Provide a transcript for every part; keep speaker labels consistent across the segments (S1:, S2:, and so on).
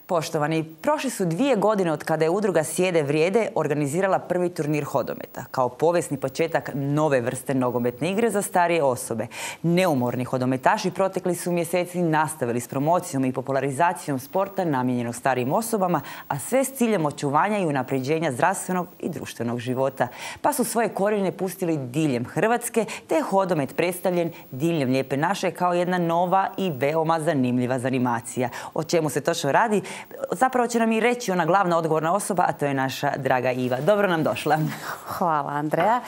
S1: Poštovani, prošli su 2 godine od kada je udruga Sjede vrijede organizirala prvi turnir hodometa, kao povijesni početak nove vrste nogometne igre za starije osobe. Neumorni hodometaši protekli su mjeseci nastavili s promocijom i popularizacijom sporta namijenjenog starijim osobama, a sve s ciljem očuvanja i unapređenja zdravstvenog i društvenog života. Pa su svoje korijene pustili diljem Hrvatske, te je hodomet predstavljen diljem Lijepe naše kao jedna nova i veoma zanimljiva zanimacija. O čemu se točno radi? Zapravo će nam i reći ona glavna odgovorna osoba, a to je naša draga Iva. Dobro nam došla.
S2: Hvala, Andreja.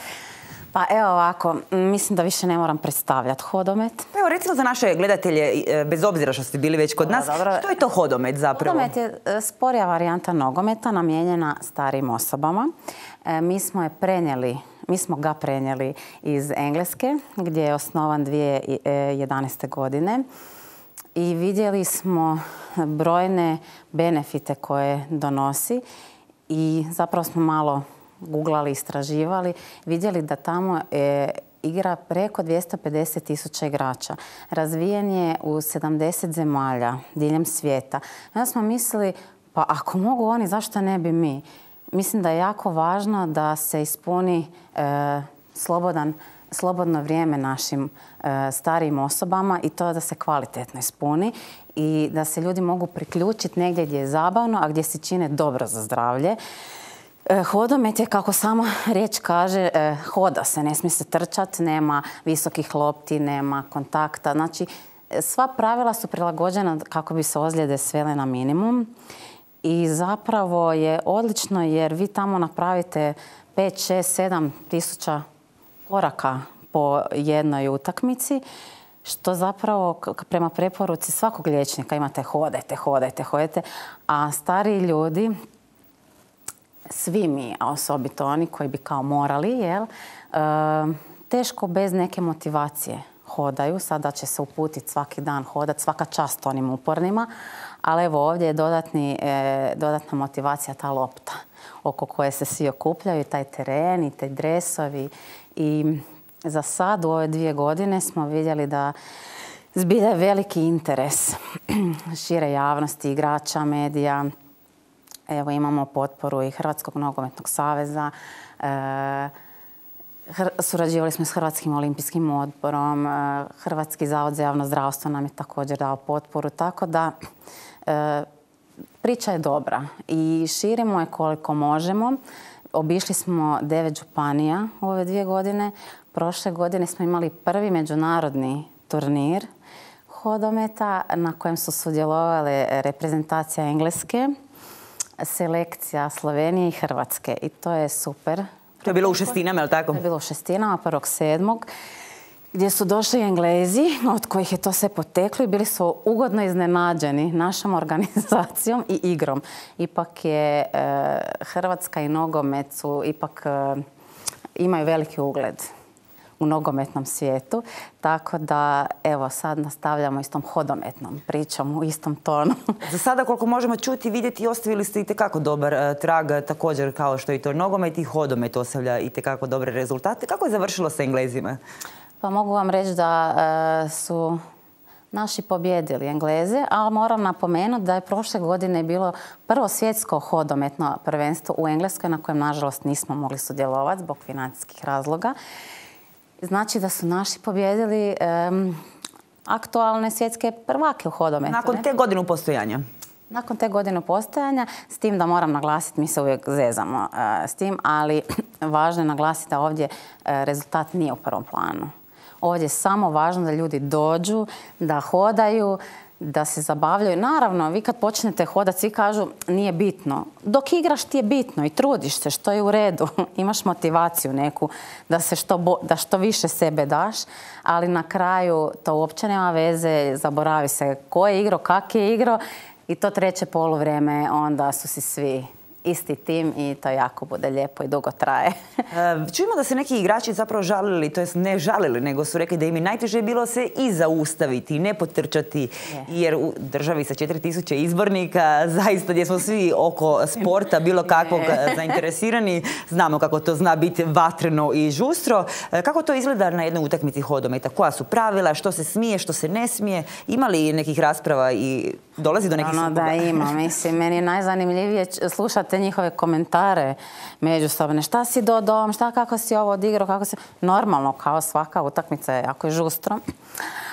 S2: Pa evo ovako, mislim da više ne moram predstavljati hodomet.
S1: Pa evo recimo za naše gledatelje, bez obzira što ste bili već kod nas, što je to hodomet zapravo?
S2: Hodomet je sporija varijanta nogometa namijenjena starijim osobama. Mi smo ga prenijeli iz Engleske, gdje je osnovan 2011. godine. I vidjeli smo brojne benefite koje donosi i zapravo smo malo googlali, istraživali, vidjeli da tamo igra preko 250.000 igrača. Razvijen je u 70 zemalja diljem svijeta. Onda smo mislili, pa ako mogu oni, zašto ne bi mi? Mislim da je jako važno da se ispuni slobodno vrijeme našim starijim osobama i to da se kvalitetno ispuni i da se ljudi mogu priključiti negdje gdje je zabavno, a gdje se čine dobro za zdravlje. Hodomet je, kako sama riječ kaže, hoda se, ne smije se trčati, nema visokih lopti, nema kontakta. Znači, sva pravila su prilagođena kako bi se ozljede svele na minimum. I zapravo je odlično jer vi tamo napravite 5, 6, 7 tisuća koraka po jednoj utakmici, što zapravo prema preporuci svakog liječnika imate hodajte, a stariji ljudi, svi mi, a osobito oni koji bi kao morali, teško bez neke motivacije hodaju. Sada će se uputiti svaki dan hodati, svaka čast onim upornima, ali evo ovdje je dodatna motivacija ta lopta oko koje se svi okupljaju, taj teren i taj dresovi. I za sad u ove 2 godine smo vidjeli da zbilja je veliki interes šire javnosti, igrača, medija. Evo imamo potporu i Hrvatskog nogometnog saveza. Surađivali smo s Hrvatskim olimpijskim odborom. Hrvatski zavod za javno zdravstvo nam je također dao potporu. Tako da priča je dobra i širimo je koliko možemo. Obišli smo 9 županija u ove 2 godine. Prošle godine smo imali prvi međunarodni turnir hodometa na kojem su sudjelovale reprezentacija Engleske, selekcija Slovenije i Hrvatske. I to je super.
S1: To je bilo u Šestinama, je li tako?
S2: To je bilo u Šestinama 1.7. gdje su došli Englezi, od kojih je to sve poteklo i bili su ugodno iznenađeni našom organizacijom i igrom. Ipak je Hrvatska i nogomet su imaju veliki ugled u nogometnom svijetu. Tako da, evo, sad nastavljamo istom hodometnom pričom, u istom tonu.
S1: Za sada, koliko možemo čuti i vidjeti, ostavili ste itekako dobar trag, također kao što i to nogomet i hodomet ostavlja itekako dobre rezultate. Kako je završilo sa Englezima?
S2: Pa mogu vam reći da su naši pobjedili Engleze, ali moram napomenuti da je prošle godine bilo prvo svjetsko hodometno prvenstvo u Engleskoj na kojem, nažalost, nismo mogli sudjelovati zbog financijskih razloga. Znači da su naši pobjedili aktualne svjetske prvake u hodometu.
S1: Nakon te godine postojanja?
S2: Nakon te godine postojanja, s tim da moram naglasiti, mi se uvijek zezamo s tim, ali važno je naglasiti da ovdje rezultat nije u prvom planu. Ovdje je samo važno da ljudi dođu, da hodaju, da se zabavljaju. Naravno, vi kad počnete hodati, svi kažu nije bitno. Dok igraš ti je bitno i trudiš se, što je u redu. Imaš motivaciju neku da što više sebe daš, ali na kraju to uopće nema veze, zaboravi se ko je igrao, kak je igrao i to treće poluvrijeme onda su si svi isti tim i to jako bude lijepo i dugo traje.
S1: Čujemo da se neki igrači zapravo žalili, to jest ne žalili, nego su rekli da im je najteže bilo se i zaustaviti, ne potrčati, jer u državi sa 4000 izbornika, zaista gdje smo svi oko sporta bilo kakvog zainteresirani, znamo kako to zna biti vatreno i žustro. Kako to izgleda na jednoj utakmici hodometa? Koja su pravila, što se smije, što se ne smije? Ima li nekih rasprava i dolazi do nekih sukoba?
S2: Da, ima. Mislim, meni je najzanimljivije slušati njihove komentare međusobne. Šta si dodom, kako si ovo odigrao, kako si... Normalno, kao svaka utakmica je jako žustro,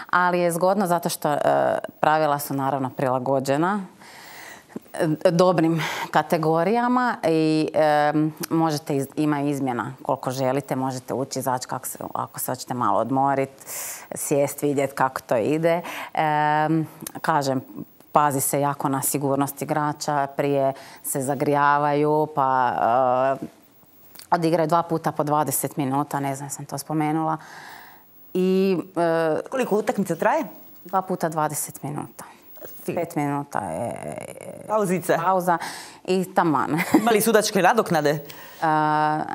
S2: ali je zgodno zato što pravila su naravno prilagođena dobrim kategorijama i ima izmjena koliko želite, možete ući, izaći ako se hoćete malo odmoriti, sjesti, vidjeti kako to ide. Kažem, pazi se jako na sigurnost igrača, prije se zagrijavaju, pa odigraju 2 puta po 20 minuta, ne znam, sam to spomenula.
S1: Koliko utakmica traje?
S2: 2 puta 20 minuta. 5 minuta je
S1: pauzica.
S2: Pauza i taman.
S1: Ima li sudačke nadoknade?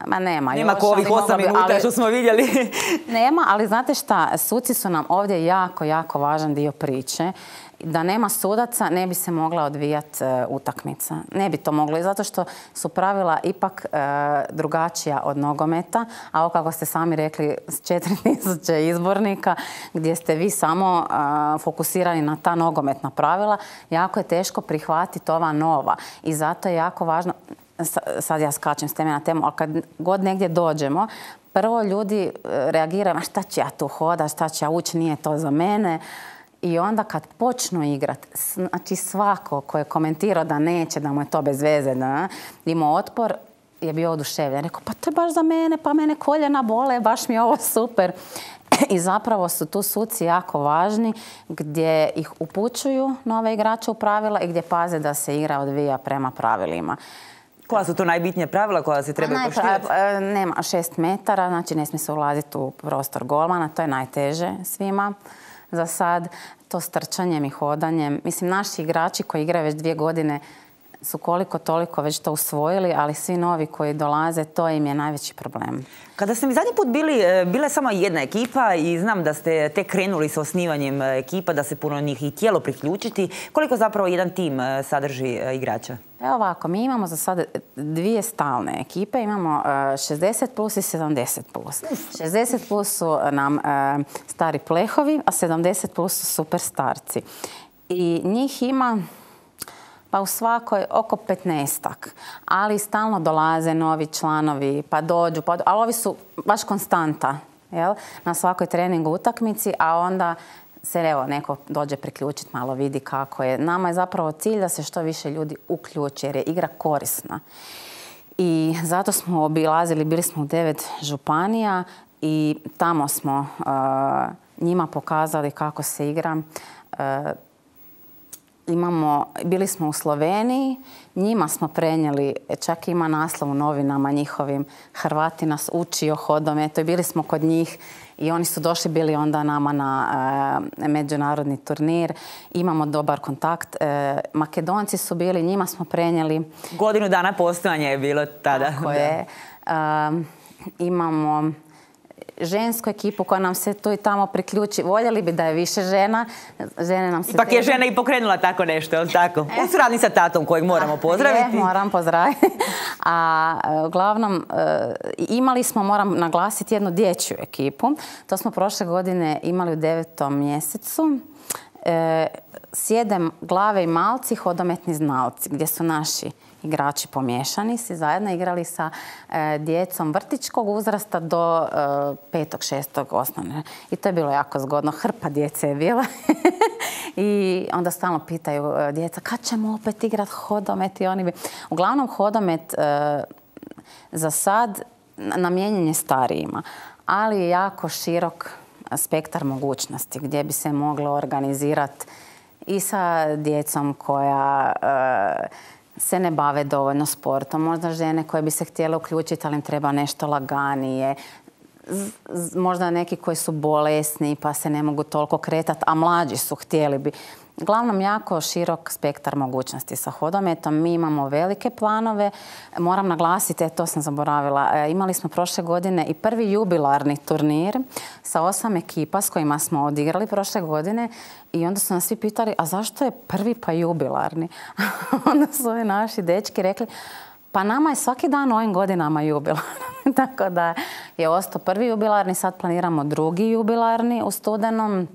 S2: Ma nema.
S1: Nema ko ovih 8 minuta što smo vidjeli.
S2: Nema, ali znate šta, suci su nam ovdje jako, jako važan dio priče. Da nema sudaca ne bi se mogla odvijati utakmica. Ne bi to moglo i zato što su pravila ipak drugačija od nogometa, a ovo kako ste sami rekli s 4000 izbornika gdje ste vi samo fokusirani na ta nogometna pravila, jako je teško prihvatiti ova nova i zato je jako važno, sad ja skačem s teme na temu, ali kad god negdje dođemo, prvo ljudi reagiraju, a šta ću ja tu hodat, šta ću ja ući, nije to za mene. I onda kad počnu igrati, znači svako ko je komentirao da neće, da mu je to bez veze, imao otpor, je bio oduševljen. Rekao, pa to je baš za mene, pa mene koljena bole, baš mi je ovo super. I zapravo su tu suci jako važni gdje ih upućuju nove igrače u pravila i gdje paze da se igra odvija prema pravilima.
S1: Koja su to najbitnija pravila koja se trebaju poštivati?
S2: Nema 6 metara, znači ne smije se ulaziti u prostor golmana, to je najteže svima. Za sad, to s trčanjem i hodanjem. Mislim, naši igrači koji igraju već 2 godine su koliko toliko već to usvojili, ali svi novi koji dolaze, to im je najveći problem.
S1: Kada ste mi zadnji put bila je samo jedna ekipa i znam da ste tek krenuli sa osnivanjem ekipa, da se puno njih i tijelo priključiti. Koliko zapravo jedan tim sadrži igrača?
S2: Evo ovako, mi imamo za sad 2 stalne ekipe, imamo 60 plus i 70 plus. 60 plus su nam stari plehovi, a 70 plus su super starci. I njih ima pa u svakoj oko 15-ak, ali stalno dolaze novi članovi, pa dođu, ali ovi su baš konstanta, jel? Na svakoj treningu utakmici, a onda se evo neko dođe priključiti, malo vidi kako je. Nama je zapravo cilj da se što više ljudi uključi jer je igra korisna. I zato smo obilazili, bili smo u 9 županija i tamo smo njima pokazali kako se igra. Bili smo u Sloveniji, njima smo prenijeli, čak ima naslov u novinama njihovim, Hrvati nas uči o hodometu i bili smo kod njih i oni su došli bili onda nama na međunarodni turnir. Imamo dobar kontakt. Makedonci su bili, njima smo prenijeli.
S1: Godinu dana postojanja je bilo tada.
S2: Tako je. Imamo žensku ekipu koja nam se tu i tamo priključi. Voljeli bi da je više žena. Žene nam se
S1: ipak je žena i pokrenula tako nešto, je li tako? U suradnji sa tatom kojeg moramo pozdraviti.
S2: Moram pozdraviti. A uglavnom, imali smo, moram naglasiti, jednu dječju ekipu. To smo prošle godine imali u 9. mjesecu. Sjede glave i malci, hodometni znalci, gdje su naši igrači pomiješani, si zajedno igrali sa djecom vrtićkog uzrasta do 5. 6. osnovne. I to je bilo jako zgodno. Hrpa djece je bila. I onda stalno pitaju djeca kad ćemo opet igrati hodomet i oni bi... Uglavnom hodomet za sad namijenjen je starijima, ali je jako širok spektar mogućnosti gdje bi se moglo organizirati i sa djecom koja se ne bave dovoljno sportom. Možda žene koje bi se htjele uključiti, ali im treba nešto laganije. možda neki koji su bolesni pa se ne mogu toliko kretati, a mlađi su, htjeli bi. Uglavnom, jako širok spektar mogućnosti sa hodometom. Mi imamo velike planove. Moram naglasiti, to sam zaboravila, imali smo prošle godine i prvi jubilarni turnir sa 8 ekipa s kojima smo odigrali prošle godine i onda su nas svi pitali, a zašto je prvi pa jubilarni? Onda su ovi naši dečki rekli, pa nama je svaki dan u ovim godinama jubilarni. Tako da je ostao prvi jubilarni, sad planiramo drugi jubilarni u studenom.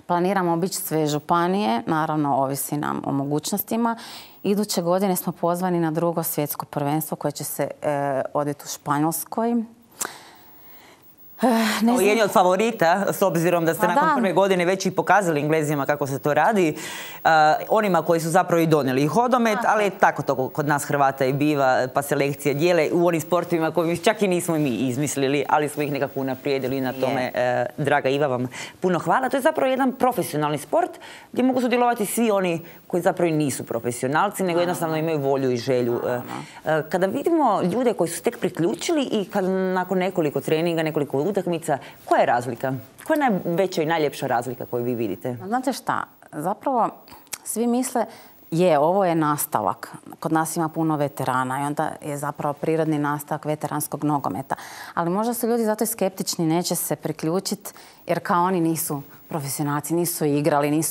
S2: Planiramo obići sve županije, naravno ovisi nam o mogućnostima. Iduće godine smo pozvani na drugo svjetsko prvenstvo koje će se odviti u Španjolskoj.
S1: Jedni od favorita, s obzirom da ste nakon prve godine već i pokazali Englezima kako se to radi, onima koji su zapravo i donijeli hodomet, ali tako to kod nas Hrvata i biva, pa selekcije dijele u onim sportovima koji čak i nismo mi izmislili, ali smo ih nekako unaprijedili na tome. Draga Iva, vam puno hvala. To je zapravo jedan profesionalni sport gdje mogu sudjelovati svi oni koji zapravo i nisu profesionalci, nego jednostavno imaju volju i želju. Kada vidimo ljude koji su tek priključili i kad nakon nekoliko treninga, nekoliko utakmica, koja je razlika? Koja je najveća i najljepša razlika koju vi vidite?
S2: Znate šta, zapravo svi misle, ovo je nastavak. Kod nas ima puno veterana i onda je zapravo prirodni nastavak veteranskog nogometa. Ali možda su ljudi zato i skeptični, neće se priključiti jer kao oni nisu profesionalci, nisu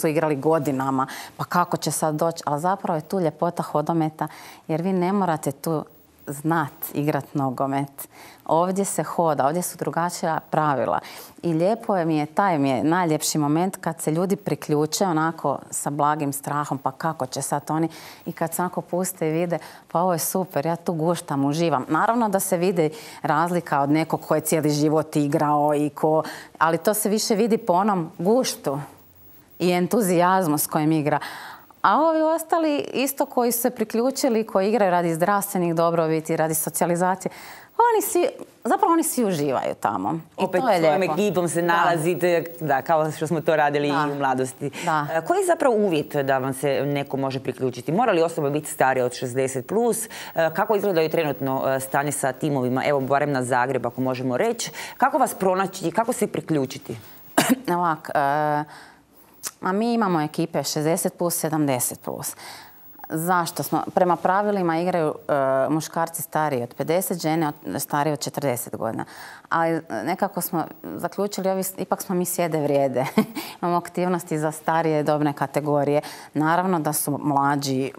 S2: igrali godinama, pa kako će sad doći? Ali zapravo je tu ljepota hodometa jer vi ne morate tu znat igrat nogomet. Ovdje se hoda, ovdje su drugačija pravila. I lijepo je taj najljepši moment kad se ljudi priključe onako sa blagim strahom, pa kako će sad oni, i kad se onako puste i vide, pa ovo je super, ja tu guštam, uživam. Naravno da se vidi razlika od nekog ko je cijeli život igrao ali to se više vidi po onom guštu i entuzijazmu s kojim igra. A ovi ostali isto koji su se priključili, koji igraju radi zdravstvenih dobrobiti, radi socijalizacije, oni svi uživaju tamo.
S1: Opet svojom ekipom se nalazite, kao što smo to radili i u mladosti. Koji je zapravo uvjet da vam se neko može priključiti? Mora li osoba biti starija od 60+? Kako izgledaju trenutno stanje sa timovima? Evo, barem na Zagreb, ako možemo reći. Kako vas pronaći i kako se priključiti?
S2: Ovak, a mi imamo ekipe 60+, 70+. Zašto? Prema pravilima igraju muškarci stariji od 50, žene starije od 40 godina. Ali nekako smo zaključili, ipak smo mi sjede vrijede. Imamo aktivnosti za starije dobne kategorije. Naravno da su mlađi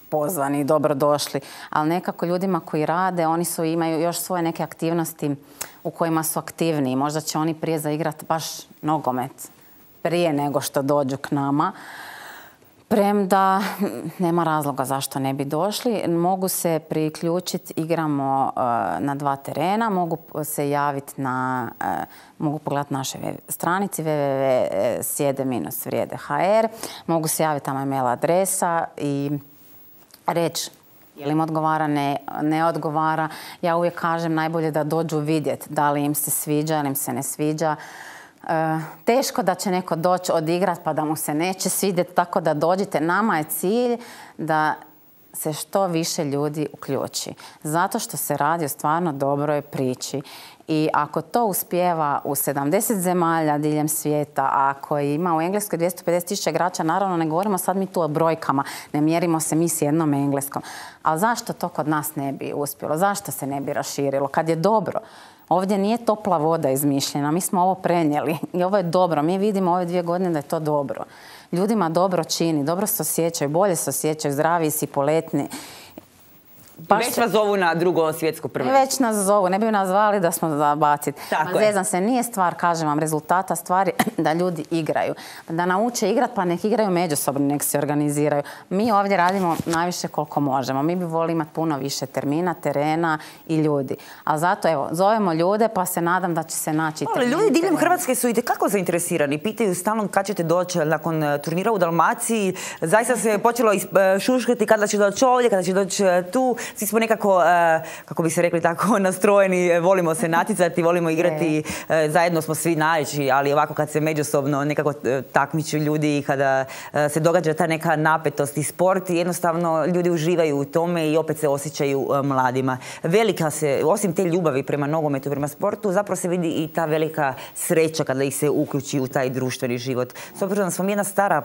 S2: pozvani, dobrodošli, ali nekako ljudima koji rade, imaju još svoje neke aktivnosti u kojima su aktivniji. Možda će oni prije zaigrati baš nogomet prije nego što dođu k nama. Premda nema razloga zašto ne bi došli. Mogu se priključiti, igramo na 2 terena, mogu se javiti mogu pogledati naše stranici www.sjede-vrijede.hr, mogu se javiti, tamo email adresa i reći je li im odgovara, ne odgovara. Ja uvijek kažem najbolje da dođu vidjeti da li im se sviđa ili im se ne sviđa. Teško da će neko doći odigrat pa da mu se neće svidjeti, tako da dođite. Nama je cilj da se što više ljudi uključi. Zato što se radi o stvarno dobroj priči. I ako to uspijeva u 70 zemalja diljem svijeta, ako ima u Engleskoj 250.000 igrača, naravno ne govorimo sad mi tu o brojkama, ne mjerimo se mi s jednom Engleskom. Ali zašto to kod nas ne bi uspjelo? Zašto se ne bi raširilo? Kad je dobro. Ovdje nije topla voda izmišljena, mi smo ovo prenijeli i ovo je dobro. Mi vidimo ove 2 godine da je to dobro. Ljudima dobro čini, dobro se osjećaju, bolje se osjećaju, zdraviji si, poletni.
S1: Već vas zovu na drugo svjetsko prvenstvo.
S2: Već nas zovu, ne bi nas zvali da smo zabaciti. Zezam se, nije stvar, kažem vam, rezultata stvari da ljudi igraju. Da nauče igrat, pa nek igraju međusobno, nek se organiziraju. Mi ovdje radimo najviše koliko možemo. Mi bi volili imati puno više terena i ljudi. Ali zato, evo, zovemo ljude pa se nadam da će se naći termini.
S1: Ali ljudi diljem Hrvatske su itekako zainteresirani. Pitaju stalno kad ćete doći nakon turnira u Dalmaciji. Zaista se počelo šuškati kada će doći ovdje, kada će doći tu. svi smo nekako, kako bi se rekli tako, nastrojeni, volimo se natjecati, volimo igrati, zajedno smo svi najveći, ali ovako kad se međusobno nekako takmiču ljudi i kada se događa ta neka napetost i sport, jednostavno ljudi uživaju u tome i opet se osjećaju mladima. Velika se, osim te ljubavi prema nogometu, prema sportu, zapravo se vidi i ta velika sreća kada ih se uključi u taj društveni život. S obzirom da smo jedna stara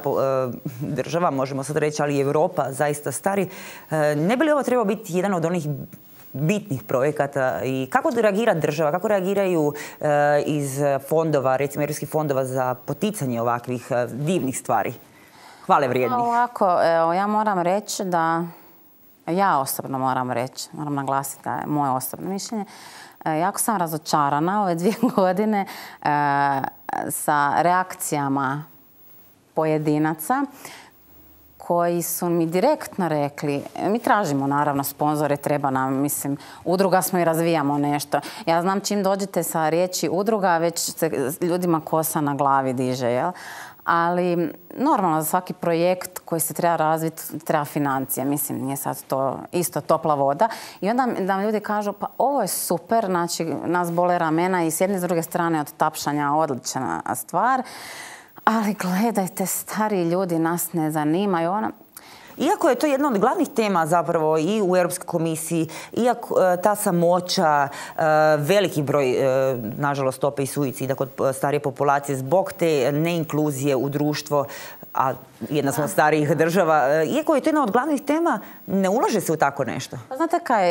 S1: država, možemo sad reći, ali i Europa zaista stari, ne bi li ovo trebao biti jedan od onih bitnih projekata i kako reagira država, kako reagiraju iz fondova, recimo europskih fondova za poticanje ovakvih divnih stvari, hvale vrijednih?
S2: Ovako, ja moram reći da, ja osobno moram naglasiti da je moje osobno mišljenje, jako sam razočarana ove 2 godine sa reakcijama pojedinaca koji su mi direktno rekli, mi tražimo naravno sponzore, treba nam, mislim, udruga smo i razvijamo nešto. Ja znam čim dođete sa riječi udruga, već se ljudima kosa na glavi diže, jel? Ali normalno za svaki projekt koji se treba razviti treba financija. Mislim, nije sad to isto topla voda. I onda nam ljudi kažu, pa ovo je super, znači nas bole ramena i s jedne i s druge strane od tapšanja odlična stvar. Ali gledajte, stari ljudi nas ne zanimaju.
S1: Iako je to jedna od glavnih tema zapravo i u Europskoj komisiji, iako ta samoća, veliki broj, nažalost, stope i suicida kod starije populacije zbog te neinkluzije u društvo, a jedna smo od starijih država, iako je to jedna od glavnih tema, ne ulaže se u tako nešto.
S2: Znate kaj,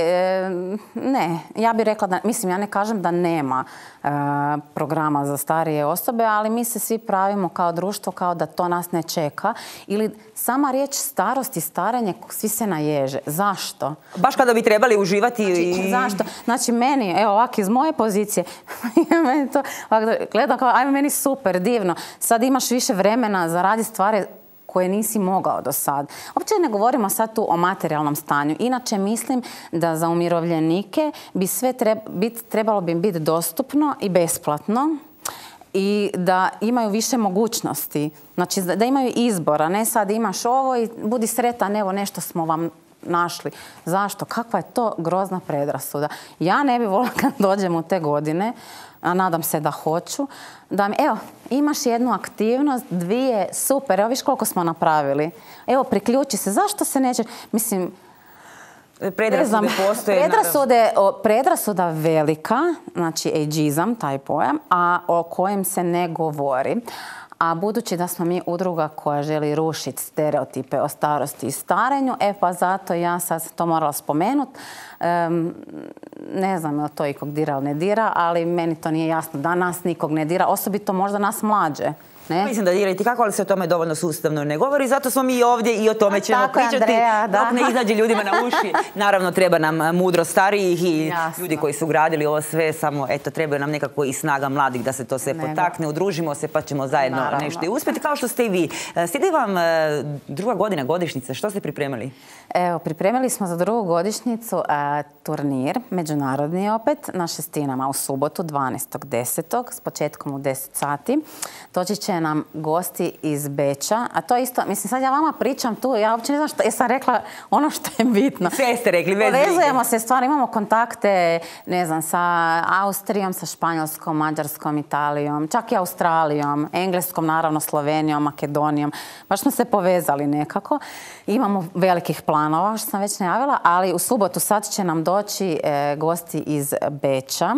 S2: ne. Ja bih rekla da, mislim, ja ne kažem da nema programa za starije osobe, ali mi se svi pravimo kao društvo kao da to nas ne čeka. Ili sama riječ starost i starenje, svi se naježe. Zašto?
S1: Baš kada bi trebali uživati.
S2: Znači, zašto? Znači, meni, evo ovako iz moje pozicije, meni to, gledam kao, ajme, meni super, divno. Sad imaš više vremena za raditi stvari koje nisi mogao do sad. Uopće ne govorimo sad tu o materijalnom stanju. Inače, mislim da za umirovljenike bi sve trebalo bi biti dostupno i besplatno i da imaju više mogućnosti. Znači, da imaju izbora. Ne sad imaš ovo i budi sretan, evo nešto smo vam našli. Zašto? Kakva je to grozna predrasuda? Ja ne bi volila kad dođem u te godine, a nadam se da hoću, da mi, evo, imaš jednu aktivnost, 2, super, evo viš koliko smo napravili. Evo, priključi se. Zašto se neće? Mislim,
S1: predrasude postoje.
S2: Predrasuda velika, znači ageizam, taj pojam, a o kojem se ne govori. A budući da smo mi udruga koja želi rušiti stereotipe o starosti i starenju, pa zato ja sad to morala spomenuti. Ne znam je li to ikog dira ili ne dira, ali meni to nije jasno da nas nikog ne dira, osobito možda nas mlađe. Ne?
S1: Mislim da dirati kako, ali se o tome dovoljno sustavno ne govori. Zato smo mi ovdje i o tome ćemo pričati. Andreja, dok ne izađe ljudima na uši. Naravno, treba nam mudro starijih i ljudi koji su gradili ovo sve. Samo, eto, treba nam nekako i snaga mladih da se to sve potakne. Udružimo se pa ćemo zajedno nešto i uspjeti. Kao što ste i vi. Slijedi vam 2. godina godišnjice. Što ste pripremili?
S2: Evo, pripremili smo za 2. godišnjicu turnir, međunarodni opet, na Šestinama u subotu, 12.10. s početkom u 10 sati. Doći će nam gosti iz Beča, a to isto, mislim, sad ja vama pričam tu, ja uopće ne znam što, sam rekla ono što je bitno.
S1: Sve ste rekli, bez brige.
S2: Povezujemo se, stvarno imamo kontakte, ne znam, sa Austrijom, sa Španjolskom, Mađarskom, Italijom, čak i Australijom, Engleskom, naravno, Slovenijom, Makedonijom. Baš smo se povezali nekako. Imamo velikih planova, što sam već najavila, ali u subotu sad će nam doći gosti iz Beča.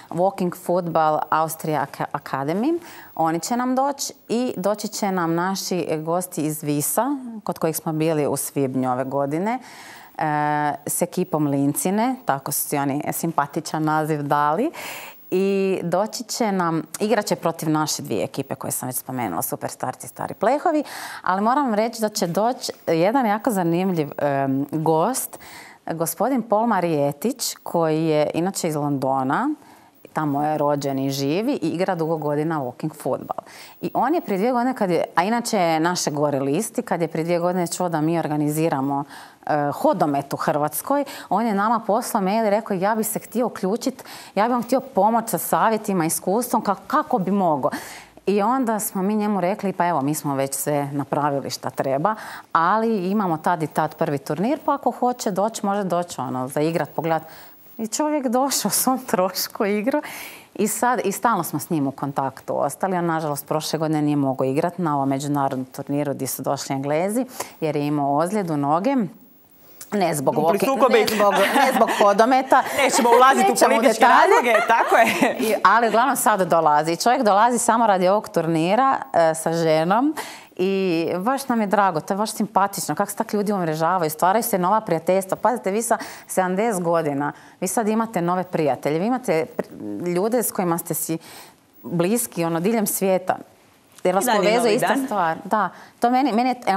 S2: Walking Football Austria Academy. Oni će nam doći i doći će nam naši gosti iz Visa, kod kojih smo bili u svibnju ove godine, s ekipom Lincine, tako su si oni simpatičan naziv dali. I doći će nam, igrat će protiv naše 2 ekipe koje sam već spomenula, Super Starci i Stari Plehovi, ali moram vam reći da će doći jedan jako zanimljiv gost, gospodin Paul Marietić, koji je inače iz Londona, tamo je rođen i živi i igra dugo godina walking football. I on je prije 2 godine, a inače je naše gore listi, kad je prije 2 godine čuo da mi organiziramo hodomet u Hrvatskoj, on je nama poslao mail i rekao ja bi se htio uključiti, ja bi vam htio pomoći sa savjetima, iskustvom, kako bi mogao. I onda smo mi njemu rekli, pa evo, mi smo već sve napravili šta treba, ali imamo tad i tad prvi turnir, pa ako hoće doći, može doći za igrat, pogledat. I čovjek došao svom trošku igru i stalno smo s njim u kontaktu ostali. On, nažalost, prošle godine nije mogao igrati na ovom međunarodnom turniru gdje su došli Englezi, jer je imao ozljedu noge. Ne zbog hodometa.
S1: Nećemo ulaziti u političke razloge, tako je.
S2: Ali uglavnom sad dolazi. Čovjek dolazi samo radi ovog turnira sa ženom i baš nam je drago, to je baš simpatično. Kako se tak ljudi umrežavaju, stvaraju se nova prijateljstva. Pazite, vi sa 70 godina, vi sad imate nove prijatelje, vi imate ljude s kojima ste si bliski, diljem svijeta. Jer vas povezuje ista stvar. Da, to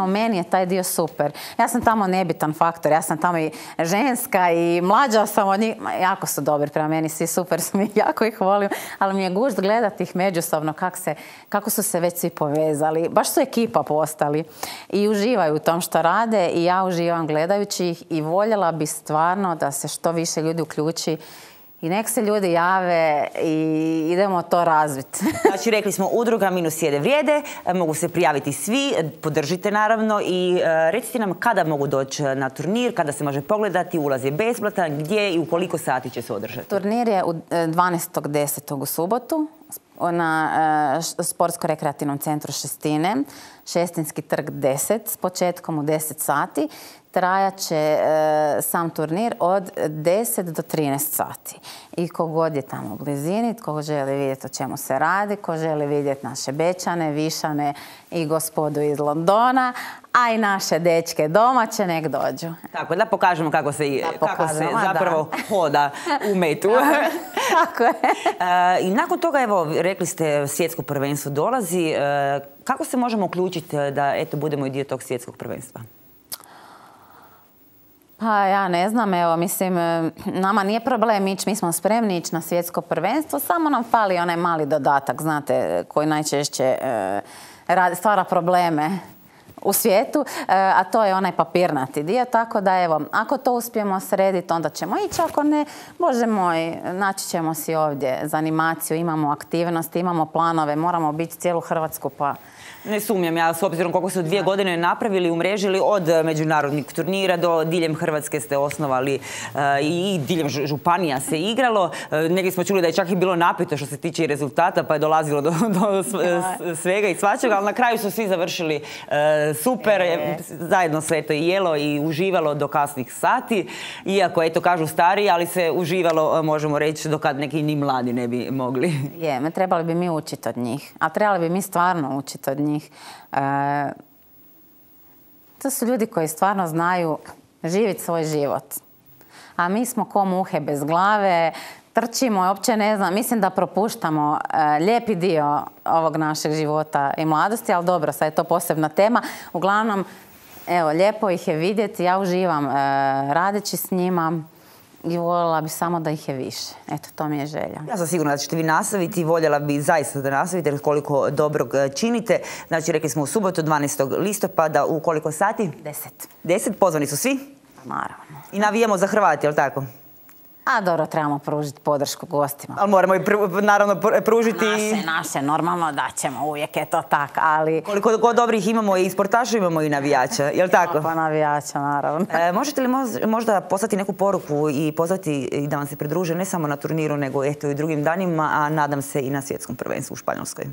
S2: meni je taj dio super. Ja sam tamo nebitan faktor, ja sam tamo i ženska i mlađa sam od njih. Jako su dobri prema meni, svi super su mi, jako ih volim. Ali mi je gušt gledati ih međusobno, kako su se već svi povezali. Baš su ekipa postali i uživaju u tom što rade i ja uživam gledajući ih i voljela bi stvarno da se što više ljudi uključi. I nek se ljudi jave i idemo to razviti.
S1: Znači, rekli smo, udruga Minus sjede vrijede, mogu se prijaviti svi, podržite naravno i recite nam kada mogu doći na turnir, kada se može pogledati, ulaz je besplatan, gdje i u koliko sati će se održati?
S2: Turnir je u 12.10. u subotu na Sportsko-rekreativnom centru Šestine, Šestinski trg 10, s početkom u 10 sati. Trajat će sam turnir od 10 do 13 sati. I kogod je tamo u blizini, ko želi vidjeti o čemu se radi, ko želi vidjeti naše Bečane, Višane i gospodu iz Londona, a i naše dečke domaće, nek dođu.
S1: Tako, da pokažemo kako se zapravo hoda u metu.
S2: Tako je.
S1: I nakon toga, evo, rekli ste, svjetsko prvenstvo dolazi. Kako se možemo uključiti da, eto, budemo i dio tog svjetskog prvenstva?
S2: Pa ja ne znam, evo, mislim, nama nije problem ići, mi smo spremni ići na svjetsko prvenstvo, samo nam fali onaj mali dodatak, znate, koji najčešće stvara probleme u svijetu, a to je onaj papirnati dio, tako da evo, ako to uspijemo srediti, onda ćemo ići, ako ne, Bože moj, naći ćemo si ovdje za animaciju, imamo aktivnosti, imamo planove, moramo biti cijelu Hrvatsku, pa...
S1: Ne sumnjam, ja s obzirom koliko su 2 godine napravili, umrežili od međunarodnih turnira do diljem Hrvatske ste osnovali i diljem županija se igralo. Negdje smo čuli da je čak i bilo napito što se tiče rezultata, pa je dolazilo do svega i svačega, ali na kraju su svi završili super, zajedno se eto i jelo i uživalo do kasnih sati, iako eto kažu stariji, ali se uživalo, možemo reći, dokad neki ni mladi ne bi mogli.
S2: Trebali bi mi učiti od njih, a trebali bi mi stvarno učiti od njih. To su ljudi koji stvarno znaju živjeti svoj život. A mi smo ko muhe bez glave, trčimo, uopće ne znam, mislim da propuštamo lijepi dio ovog našeg života i mladosti, ali dobro, sad je to posebna tema. Uglavnom, evo, lijepo ih je vidjeti, ja uživam radeći s njima. I voljela bi samo da ih je više. Eto, to mi je želja.
S1: Ja sam sigurna da ćete vi nastaviti i voljela bi zaista da nastavite jer koliko dobrog činite. Znači, rekli smo u subotu 12. listopada u koliko sati?
S2: 10.
S1: 10? Pozvani su svi?
S2: Naravno.
S1: I navijamo za Hrvati, jel' tako?
S2: A dobro, trebamo pružiti podršku gostima.
S1: Ali moramo i naravno pružiti...
S2: Naše, normalno da ćemo, uvijek je to tak, ali...
S1: Koliko god dobrih imamo i sportaša, imamo i navijača, jel' tako?
S2: Pa navijača, naravno.
S1: Možete li možda poslati neku poruku i pozvati da vam se pridruže ne samo na turniru, nego eto i drugim danima, a nadam se i na svjetskom prvenstvu u Španjolskoj?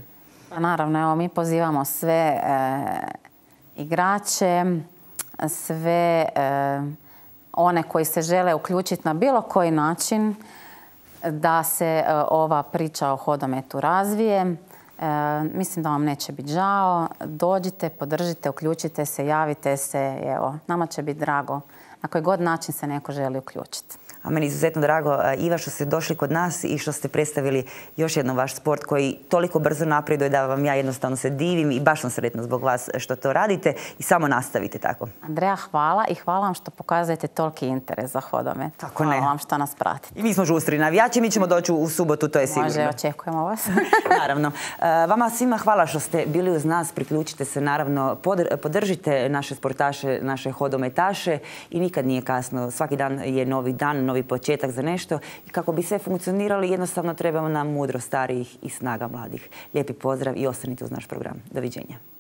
S2: Pa naravno, evo, mi pozivamo sve igrače, sve... one koji se žele uključiti na bilo koji način da se ova priča o hodometu razvije. Mislim da vam neće biti žao. Dođite, podržite, uključite se, javite se. Evo, nama će biti drago na koji god način se neko želi uključiti.
S1: A meni je izuzetno drago, Iva, što ste došli kod nas i što ste predstavili još jednom vaš sport koji toliko brzo napreduje da vam ja jednostavno se divim i baš sam sretna zbog vas što to radite i samo nastavite tako.
S2: Andreja, hvala i hvala vam što pokazujete toliki interes za hodomet.
S1: Tako ne.
S2: Hvala vam što nas pratite.
S1: I mi smo žustri navijači, mi ćemo doći u subotu, to je sigurno.
S2: Može, očekujemo vas.
S1: Naravno. Vama svima hvala što ste bili uz nas, priključite se naravno, podržite naše sportaše, naše hodometaše i nikad nikad nije kasno. Svaki dan je novi dan, novi početak za nešto. I kako bi sve funkcionirali, jednostavno trebamo nam mudro starijih i snaga mladih. Lijepi pozdrav i ostanite uz naš program. Doviđenja.